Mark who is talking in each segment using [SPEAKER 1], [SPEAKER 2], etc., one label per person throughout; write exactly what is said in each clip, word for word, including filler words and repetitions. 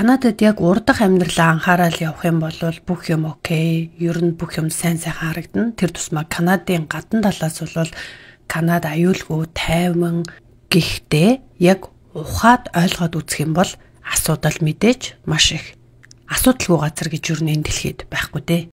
[SPEAKER 1] Канадад яг урдах амьдралаа анхаарал явах юм бол бүх юм окей. Ер нь бүх юм сайн сайхан харагдана. Тэр тусмаа Канадын гадна талаас бол Канада аюулгүй тайван гэхдээ яг ухаад ойлгоод үзэх юм бол асуудал мэдээж маш их асуудалгүй газар гэж юу нэ дэлхийд байхгүй дээ.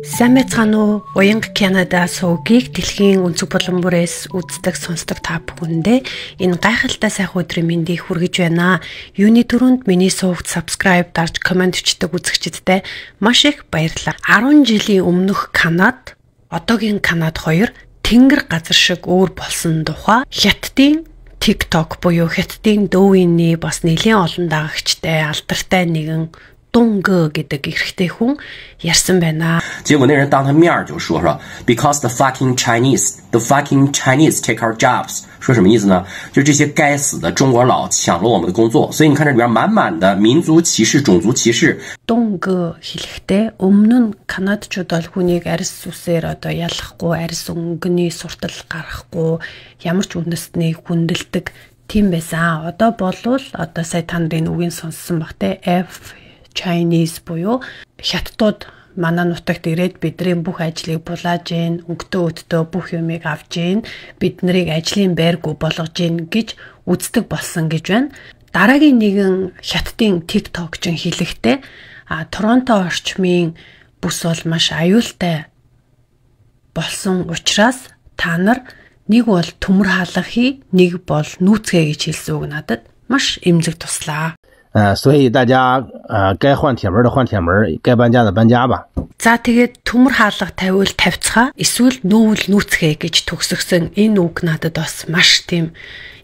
[SPEAKER 1] Сайн байцгаана уу? Уянга Канада суугийг дэлхийн өнцөг болон бүрээс үздэг сонсдог та бүхэндээ энэ гайхалтай сайхан өдрийн мэндийг хүргэж байна. Юуны төрөнд миний суугт subscribe дарж комент бичдэг үзэгчдтэй маш их баярлалаа. арван жилийн өмнөх Канад, одоогийн Канад хоёр тэнгэр газар шиг өөр болсон тухай Хятадын TikTok буюу Хятадын Douyin-ий бас нэлээд олон дагагчтай алдартай нэгэн Дунгэ гэдэг эрэгтэй хүн ярьсан байна.
[SPEAKER 2] 结果那人当他面就说说 because the fucking Chinese the fucking Chinese take our jobs 说什么意思呢？就这些该死的中国佬抢了我们的工作，所以你看这里边满满的民族歧视、种族歧视。
[SPEAKER 1] Дунгэ хэлэхдээ өмнө нь Канадчууд бол хүнийг арьс үсээр одоо ялахгүй, арьс өнгөний суртал гаргахгүй, ямар ч үндэстний хүндэлдэг тийм байсан. Одоо болвол одоо сая та нарын үгийг сонссон баг те F Chinese буюу хятадууд манай нутагт ирээд бидний бүх ажлыг булааж гин, өнгөтөө өдтөө бүх юмыг авж гин, бид нарыг ажлын байргүй болгож гин гэж үздэг болсон гэж байна. Дараагийн нэгэн хятадын TikTok ч хэлэхдээ а Торонто орчмын бүс бол маш аюултай болсон учраас та нар нэг бол төмөр хаалга хий, нэг бол нүүцгээ гэж хэлсэн үг надад маш эмзэг туслаа.
[SPEAKER 3] 呃，所以大家呃该换铁门的换铁门，该搬家的搬家吧。
[SPEAKER 1] За тэгээд төмөр хаалга тавиул тавьцгаа эсвэл нүүл нүүцгээ гэж төгсгсөн энэ үг надад бас маш тийм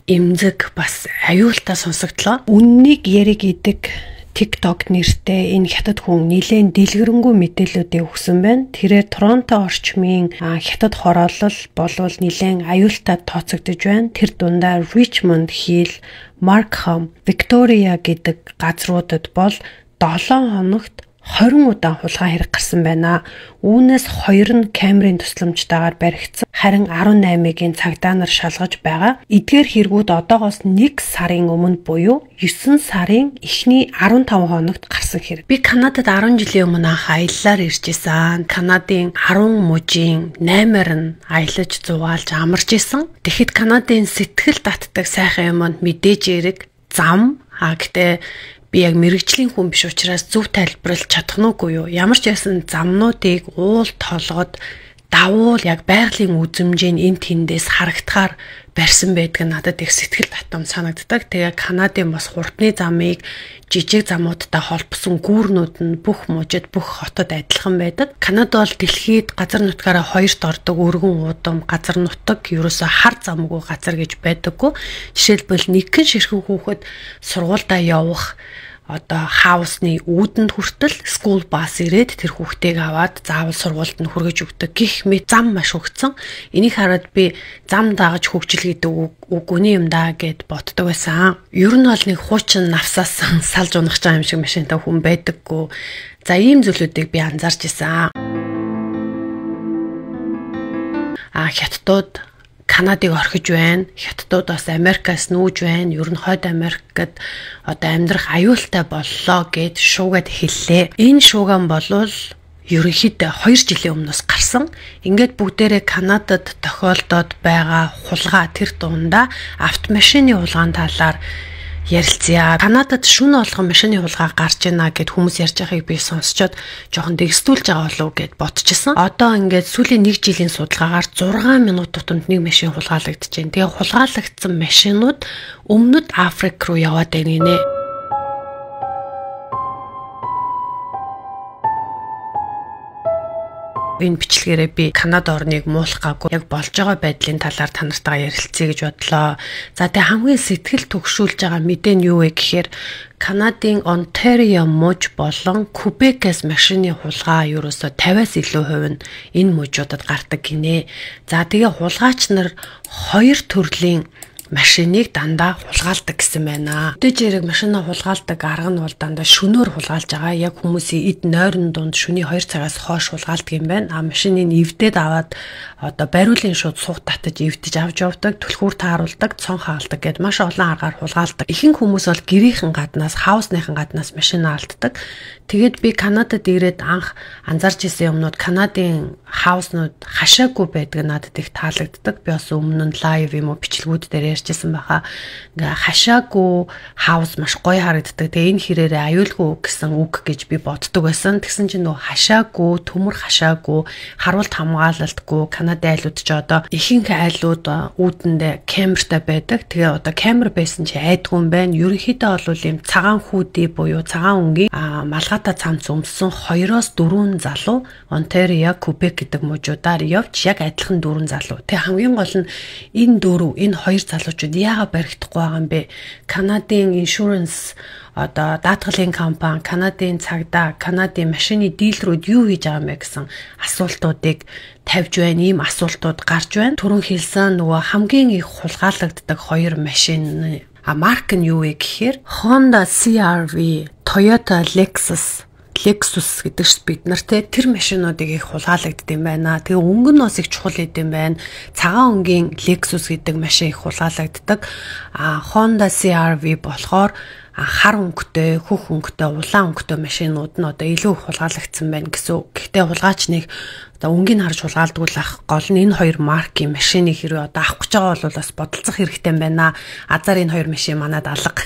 [SPEAKER 1] эмзэг бас аюултай сонсогдлоо. Үннийг яриг идэг TikTok нэртэй энэ хятад хүн нэлээд дэлгэрэнгүй мэдээлэлүүдийг өгсөн байна. Тэрээр Торонто орчмын хятад хороолол болвол нэлээд аюултай тооцогдож байна. Тэр дундаа Richmond Hill, Markham, Victoria гэдэг газруудад бол долоон хоногт хорин удаа хулгай хэрэг гарсан байна. Үүнээс хоёр нь камерын тусламжтайгаар баригдсан. Харин арван наймыгийн цагдаа нар шалгаж байгаа. Эдгээр хэрэгүүд одоогоос нэг сарын өмнө буюу есөн сарын эхний арван таван хоногт гарсан хэрэг. Би Канадад арван жилийн өмнө анх аяллаар ирж исэн. Канадын арван мужийн наймаар нь аялаж зугаалж амарч исэн. Тэгэхэд Канадын сэтгэл татдаг сайхан юмд мэдээж эрэг зам а гэтээ би яг мэрэгжлийн хүн биш учраас зөв тайлбарлаж чадах нүггүй юу. Ямар ч ясан замнуудыг уул толгод давуул яг байгалийн үзмжийн энэ тэндээс харагдахаар барьсан байдаг надад их сэтгэл татам санагддаг. Тэгээ Канадын бас хурдны замыг жижиг замуудтай холбосон гүүрнүүд нь бүх мужид бүх хотод адилхан байдаг. Канада бол дэлхийд газар нутгаараа хоёрт ордог өргөн удам газар нутаг ерөөсө хар замгүй газар гэж байдаггүй. Жишээлбэл нэгэн ширхэг хүүхэд сургуультай явах одоо хаусны үүдэнд хүртэл school bus ирээд тэр хүүхдийг аваад заавал сургуульд нь хүргэж өгдөг гэх мэт зам маш хөгцсөн. Энийг хараад би зам дагаж хөгжил гэдэг үг үний юм даа гэд боддог байсан. Ер нь бол нэг хуучин навсаас салж унах юм шиг машинтай хүн байдаггүй. За ийм зүйлүүдийг би анзаарч ирсэн. А хятадууд Канадыг орхиж байна. Хятадууд бас Америкаас нүүж байна. Ер нь хойд Америкт одоо амьдрах аюултай боллоо гэд шуугаад хэллээ. Энэ шууган болвол ерөнхийдөө хоёр жилийн өмнөөс гарсан. Ингээд бүгдээрээ Канадад тохиолдоод байгаа хулгай тэр дундаа автомашины хулгаан талаар ярилцъя. Канадад шүн болгон машины хулгай гарч ийна гэд хүмүүс ярьж байгааг би сонсчод жоохон дэгстүүлж байгаа болов гэд бодчихсон. Одоо ингээд сүүлийн нэг жилийн судалгаагаар зургаан минут тутамд нэг машин хулгайлагдаж байна. Тэгээ хулгайлагдсан машинууд өмнөд Африк руу яваад байна гинэ. Энэ бичлэгээрээ би Канада орныг муулахгаагүй яг болж байгаа байдлын талаар та нартайгаа ярилцъя гэж бодлоо. За тэгээ хамгийн сэтгэл түгшүүлж байгаа мэдээ нь юу вэ гэхээр Канадын Ontario муж болон Quebec-с машины хулгай ерөөсө тавиас илүү хувь нь энэ мужуудад гардаг гинэ. За тэгээ хулгайч нар хоёр төрлийн машиныг дандаа хулгайлдаг гэсэн байна. Өдөөж яриг машинаа хулгайлдаг арга нь бол дандаа шөнөөр хулгайлж байгаа. Яг хүмүүсийн эд нойрон дунд шөнийн хоёр цагаас хойш хулгайлдаг юм байна. А машиныг эвдээд аваад одоо бариулын шууд суух татаж эвдэж авч явдаг, түлхүүр тааруулдаг, цон хаалдаг гэд маш олон аргаар хулгайлдаг. Ихэнх хүмүүс бол гэрийнхэн гаднаас, хаусныхан гаднаас машинаа алддаг. Тэгээд би Канадад ирээд анх анзарч ирсэн юмнууд Канадын хауснууд хашаагүй байдаг надад их таалагддаг. Би бас өмнө нь лайв юм уу бичлэгүүд дээр ярьжсэн байхаа. Ингээ хашаагүй хаус маш гоё харагддаг. Тэгээ энэ хэрээрээ аюулгүй гэсэн үг гэж би боддог байсан. Тэгсэн чинь нөө хашаагүй, төмөр хашаагүй, харуулт хамгаалалтгүй Канадын айлууд ч одоо ихэнх айлууд үүдэндээ камертай байдаг. Тэгээ одоо камер байсан чи айдгүй юм байна. Ерөнхийдөө бол юм цагаан хүүдий буюу цагаан өнгийн малгайтай цамц өмссөн хоёроос дөрвөн залуу Онтарио, Кубек гэдэг мужуудаар явж яг адилхан дөрвөн залуу. Тэг хамгийн гол нь энэ дөрөв, энэ хоёр залуучууд яагаад баригдахгүй байгаа юм бэ? Канадын insurance одоо даатгалын компани, Канадын цагдаа, Канадын машины дилерүүд юу хийж байгаа юм бэ гэсэн асуултуудыг тавьж байна. Ийм асуултууд гарч байна. Түрүүн хэлсэн нөгөө хамгийн их хулгайлагддаг хоёр машин а марк нь юу вэ гэхээр Honda си ар ви, Toyota Lexus Lexus гэдэг ш бид нар те тэр машинуудыг их хулгайлагддаг юм байна. Тэгээ өнгө нь бас их чухал гэдэм байна. Цагаан өнгийн Lexus гэдэг машин их хулгайлагддаг. А Honda си ар ви болохоор хар өнгөтэй, хөх өнгөтэй, улаан өнгөтэй машинууд нь одоо илүү хулгайлагдсан байна гэсэн. Гэхдээ хулгайч нэг одоо өнгийг харж хулгаалдаг л ах гол нь энэ хоёр маркийн машиныг хэрвээ одоо авах гэж байгаа бол бас бодолцох хэрэгтэй байна. Азар энэ хоёр машин манад алга.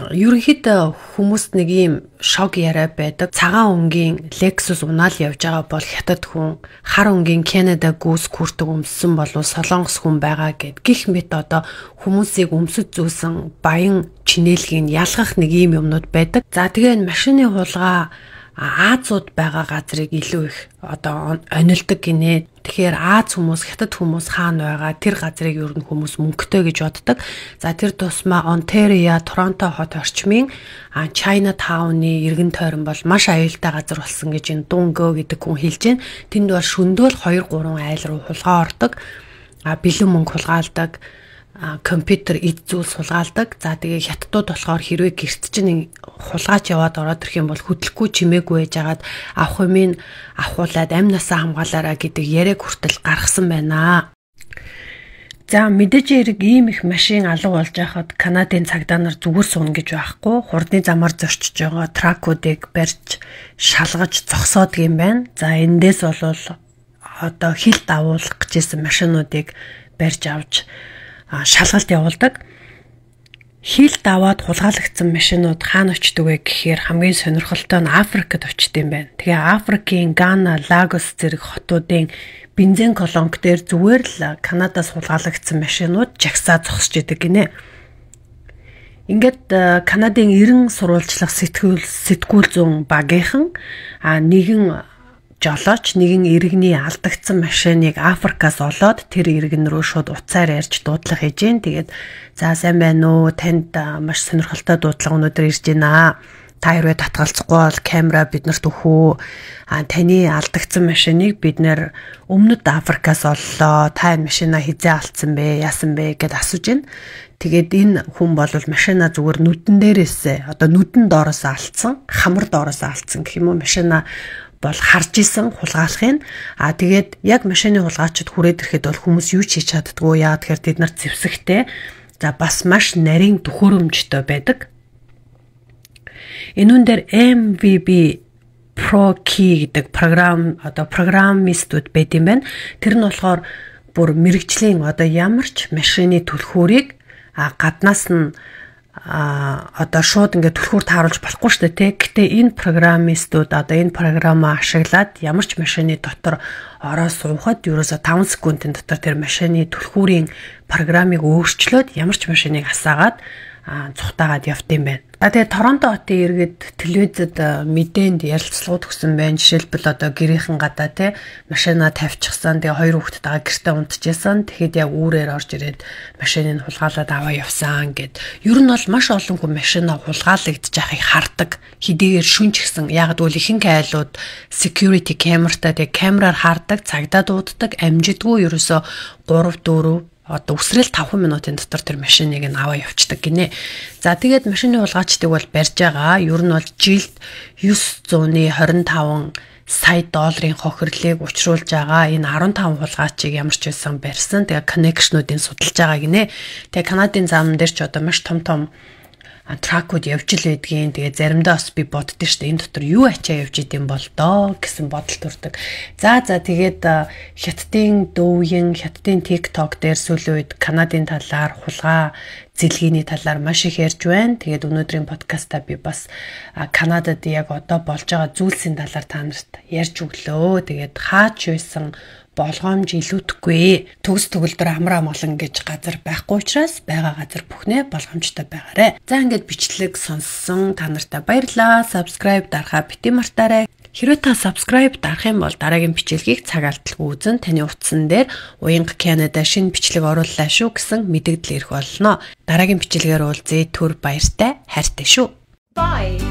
[SPEAKER 1] Ерөнхийдөө хүмүүст нэг ийм шок яриа байдаг. Цагаан өнгийн Lexus унаал явж байгаа бол хятад хүн, хар өнгийн Canada Goose хүртэг өмссөн болов Солонгос хүн байгаа гэд гих мэт одоо хүмүүсийг өмсөж зүүсэн баян чинээлгийг ялгах нэг ийм юмнууд байдаг. За тэгээ энэ машины хулгай Азууд байгаа газрыг илүү их одоо онилдог гинэ. Тэгэхээр Аз хүмүүс, хятад хүмүүс хаана байгаа тэр газрыг ер нь хүмүүс мөнгөтэй гэж боддог. За тэр тусмаа Онтарио, Торонто хот орчмын Chinatown-ы иргэн тойрон бол маш аюултай газар болсон гэж энэ Дунгөө гэдэг хүн хэлж байна. Тэнд бол шөндөөл хоёр гурван айл руу хулгай ордог. А бэлэн мөнгө хулгайлдаг. Компьютер эд зүйлс хулгайлдаг. За тэгээ хятадууд болохоор хэрвээ гэрт чинь хулгайч яваад ороод ирэх юм бол хөдлөхгүй чимээгүй байжгаад авах юмыг авахуулаад амнасаа хамгаалаараа гэдэг яриаг хүртэл гаргасан байна. За мэдээж хэрэг ийм их машин алга болж байхад Канадын цагдаа нар зүгээр сууна гэж байхгүй. Хурдны замаар зорчиж байгаа тракуудыг барьж шалгаж зогсоодог юм байна. За эндээс бол одоо хил давуулах гэжсэн машинуудыг барьж авч шалгалт явуулдаг. Хил даваад хулгайлагдсан машинууд хаана очдөг вэ гэхээр хамгийн сонирхолтой нь Африкт очдөг юм байна. Тэгээ Африкийн Гана, Лагос зэрэг хотуудын бензин колонк дээр зүгээр л Канадаас хулгайлагдсан машинууд жагсаа зогсож идэг гинэ. Ингээд Канадын эрен сурвалжлах сэтгүүл сэтгүүл зүүн багийнхан а нэгэн жолооч нэгэн иргэний алдагдсан машиныг Африкаас олоод тэр иргэн рүү шууд уцаар ярьж дуудлага хийж гин. Тэгээд за сайн байна уу? Танд маш сонирхолтой дуудлага өнөөдөр ирж байна. Та хэрвээ татгалзахгүй бол камера биднэрт өгөө. А таны алдагдсан машиныг бид нэр өмнөд Африкаас оллоо. Та энэ машинаа хизээ алдсан бэ? Яасан бэ гэд асууж гин. Тэгээд энэ хүн бол машина зүгээр нүдэн дээрээс одоо нүдэн доороос алдсан, хамар доороос алдсан гэх юм уу машина бол харж исэн хулгайлахын. А тэгээд яг машины хулгайчид хүрээд ирэхэд бол хүмүүс юу ч хийж чаддгүй. Яа тэгэхээр тэд нар зэвсэгтэй. За бас маш нарийн төхөөрөмжтэй байдаг. Энэ үнээр эм ви би Pro Key гэдэг програм одоо программистууд байд юм байна. Тэр нь болохоор бүр мэрэгжлийн одоо ямар ч машины түлхүүрийг а гаднаас нь а одоо шууд ингээд түлхүүр тааруулж болохгүй шүү дээ тий. Гэтэ энэ программистууд одоо энэ програмаа ашиглаад ямар ч машины дотор ороо суухад ерөөсө таван секундын дотор тэр машины түлхүүрийн программыг өөрчлөөд ямар ч машиныг асаагаад цухтаагаад явт юм байна. За тэгээ Торонто хотын иргэд телевизэд мэдээнд ярилцлагууд өгсөн байна. Жишээлбэл одоо гэрийнхэн гадаа те машина тавьчихсан. Тэгээ хоёр хүүхэдтэйгээ гэртээ унтчихсан. Тэгэхэд яг үүрээр орж ирээд машиныг хулгайлаад аваа явсан гэд. Ер нь бол маш олон хүн машина хулгайлагдж байхыг хардаг. Хэдийгээр шүнж гисэн. Яг гэвэл ихэнх айлууд security cameraтай тэгээ камераар хардаг, цагдаа дууддаг, амжидгүй ерөөсө гурав дөрөв одоо үсрэл five минутын дотор тэр машиныг нь аваа явцдаг гинэ. За тэгээд машины хулгайчдыг бол барьж байгаа. Ер нь бол жилд nine hundred twenty-five сая долларын хохирлыг учруулж байгаа. Энэ fifteen хулгайчийг ямар ч байсан барьсан. Тэгээ коннекшнуудыг судалж байгаа гинэ. Тэгээ Канадын зам дээр ч одоо маш том том тракууд явж л байдгийн. Тэгээ заримдаа бас би боддөө штэ энэ дотор юу ачаа явж идэм бол доо гэсэн бодол төрдөг. За за тэгээд хятадын дөвийн хятадын TikTok дээр сүүлийн үед Канадын талаар хулгай зэлгээний талаар маш их ярьж байна. Тэгээд өнөөдрийн подкастаа би бас Канадад яг одоо болж байгаа зүйлсийн талаар та нарт ярьж өглөө. Тэгээд хаач байсан болгоомж илүүдэхгүй. Төгс төгөлдөр амар амгалан гэж газар байхгүй учраас байгаа газар бүхнээ болгоомжтой байгаарэ. За ингээд бичлэг сонссон та нартай баярлалаа. Subscribe дарахаа бити мартаарай. Хэрвээ та subscribe дарах юм бол дараагийн бичлэгийг цаг алдалгүй үзэн таны утсан дээр Уянга Канада шинэ бичлэг орууллаа шүү гэсэн мэдээлэл ирэх болно. Дараагийн бичлэгээр уулзъя. Түр баяртай хайртай шүү.
[SPEAKER 4] Bye.